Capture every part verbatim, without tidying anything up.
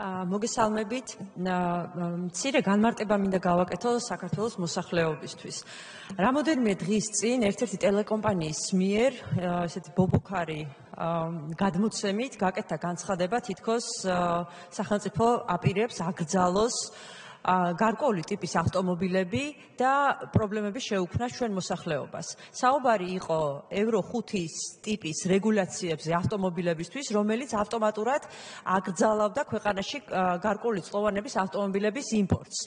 მოგესალმებით. მცირე განმარტება მინდა გავაკეთო საქართველოს მოსახლეობისთვის. რამოდენიმე დღის წინ ერთ-ერთი ტელეკომპანიის მიერ ესეთი ბობოქარი გადმოცემით გაკეთდა განცხადება, თითქოს სახელმწიფო აპირებს აკრძალოს გარკვეული ტიპის ავტომობილები და პრობლემები შეუქმნას ჩვენ მოსახლეობას. საუბარი იყო ევრო ხუთის ტიპის რეგულაციებზე ავტომობილებისთვის, რომელიც ავტომატურად აკრძალავდა ქვეყანაში გარკვეული წყლოვანების ავტომობილების იმპორტს.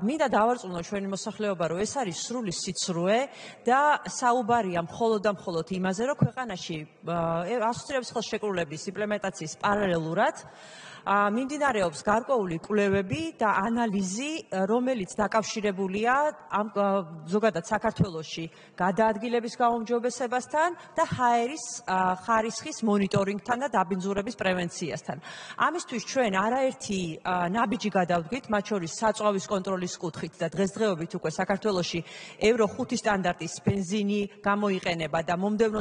მინდა დავარწმუნო ჩვენი მოსახლეობა, რომ ეს არის სრული სიცრუე და საუბარია მხოლოდ და მხოლოდ იმაზე, რომ ქვეყანაში ასოცირების ხელშეკრულების იმპლემენტაციის პარალელურად მიმდინარეობს გარკვეული კვლევები და ანალიზი, რომელიც დაკავშირებულია ამ ზოგადად საქართველოში გადაადგილების გაუმჯობესებასთან და ჰაერის ხარისხის მონიტორინგთან და დაბინძურების პრევენციასთან. ამისთვის ჩვენ არაერთი ნაბიჯი გადავდგით, მათ შორის საწვავის კონტროლის კუთხით და დღესდღეობით უკვე საქართველოში ევრო ხუთი სტანდარტის ბენზინი გამოიყენება და მომდევნო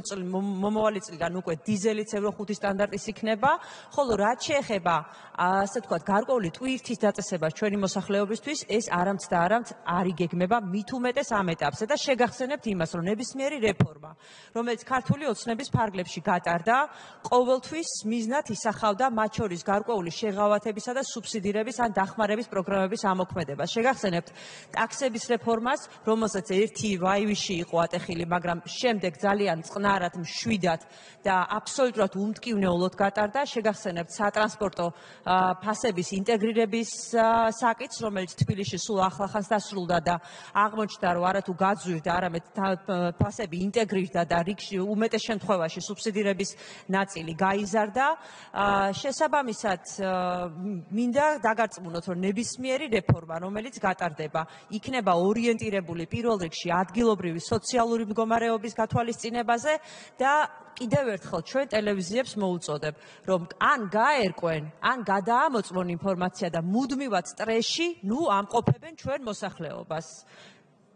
მომავალი წლიდან უკვე დიზელიც ევრო ხუთი სტანდარტის იქნება, ხოლო რაც შეეხება ასე თქვათ, გარკვეული ტვირთის დაწესებას ჩვენი მოსახლეობისთვის ეს არამც და არამც არ იგეგმება მით უმეტეს ამ ეტაპზე და შეგახსენებთ იმას, რომ ნებისმიერი რეფორმა, რომელიც ქართული ოცნების ფარგლებში გატარდა, ყოველთვის მიზნად ისახავდა მათ შორის გარკვეული შეღავათებისა და სუბსიდირების ან დახმარების პროგრამების ამოქმედებას. შეგახსენებთ ტაქსების რეფორმას, რომელსაც ერთი ვაივიში იყო ატეხილი, მაგრამ შემდეგ ძალიან წყნარად, მშვიდად და აბსოლუტურად უმტკივნეულოდ გატარდა. შეგახსენებთ სატრანსპორტო ფასების ინტეგრირების საკითხს, რომელიც თბილისში სულ ახლახანს დასრულდა და აღმოჩნდა, რომ არათუ გაძვირდა, არამედ ფასები ინტეგრირდა და რიგში უმეტეს შემთხვევაში სუბსიდირების ნაწილი გაიზარდა. შესაბამისად, მინდა დაგარწმუნოთ, რომ ნებისმიერი რეფორმა, რომელიც გატარდება, იქნება ორიენტირებული პირველ რიგში ადგილობრივი სოციალური მდგომარეობის გათვალისწინებაზე და კიდევ ერთხელ ჩვენ ტელევიზიებს მოუწოდებ, რომ ან გაერკვენ, ან გადაამოწმონ ინფორმაცია და მუდმივად სტრესში, ნუ ამყოფებენ ჩვენ მოსახლეობას.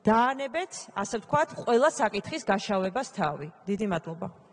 დაანებეთ, ასე ვთქვათ, ყველა საკითხის გაშავებას თავი. დიდი მადლობა.